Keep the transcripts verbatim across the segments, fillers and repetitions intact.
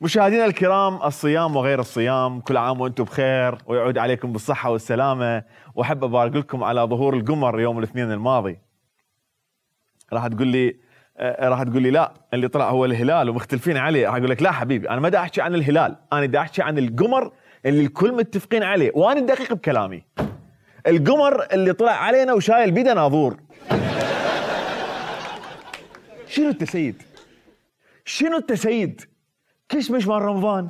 مشاهدينا الكرام، الصيام وغير الصيام، كل عام وانتم بخير ويعود عليكم بالصحة والسلامة. واحب ابارك لكم على ظهور القمر يوم الاثنين الماضي. راح تقول لي راح تقول لي لا اللي طلع هو الهلال ومختلفين عليه. راح اقول لك لا حبيبي، انا ما دا احكي عن الهلال، انا دا احكي عن القمر اللي الكل متفقين عليه، وانا دقيق بكلامي. القمر اللي طلع علينا وشايل بيده ناظور. شنو انت سيد؟ شنو انت سيد؟ كشمش مال رمضان،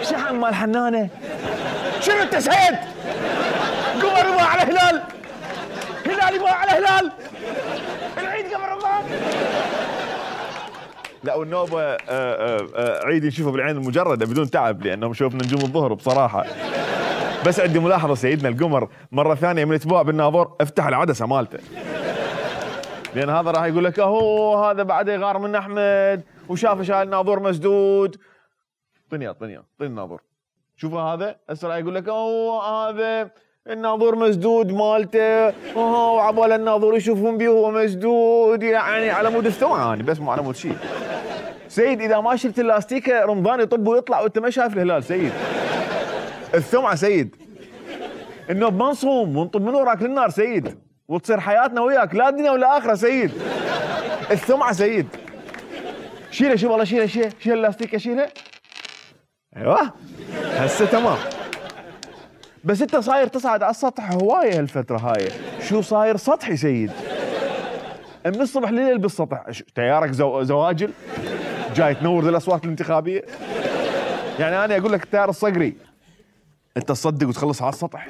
شحن مال حنانه. شنو انت سيد؟ قمر يبغى على هلال، هلال يبغى على هلال، العيد قبل رمضان. لا والنوبه آآ آآ عيد نشوفه بالعين المجرده بدون تعب، لانهم شوفنا نجوم الظهر بصراحه. بس عندي ملاحظه سيدنا القمر مره ثانيه من اسبوع بالناظور افتح العدسه مالته، لان هذا راح يقول لك اهو هذا بعده يغار من احمد وشافه شايل ناظور مسدود. طنيا طنيا طني الناظور، شوفوا هذا هسه راح يقول لك اوه هذا الناظور مسدود مالته، اوه وعبال الناظور يشوفون بيه وهو مسدود، يعني على مود الثوعه انا بس مو على مود شيء. سيد اذا ما شلت اللاستيكه رمضان يطب ويطلع وانت ما شايف الهلال سيد. الثوعه سيد، النوب ما نصوم ونطب من وراك للنار سيد، وتصير حياتنا وياك لا دنيا ولا اخره سيد. الثمعه سيد. شيله شوف والله شيله شيله شيل اللاستيكه شيله. ايوه هسه تمام. بس انت صاير تصعد على السطح هوايه هالفتره هاي، شو صاير سطحي سيد؟ من الصبح لليل بالسطح، تيارك زو... زواجل جاي تنور ذي الاصوات الانتخابيه. يعني انا اقول لك التيار الصقري انت تصدق وتخلص على السطح؟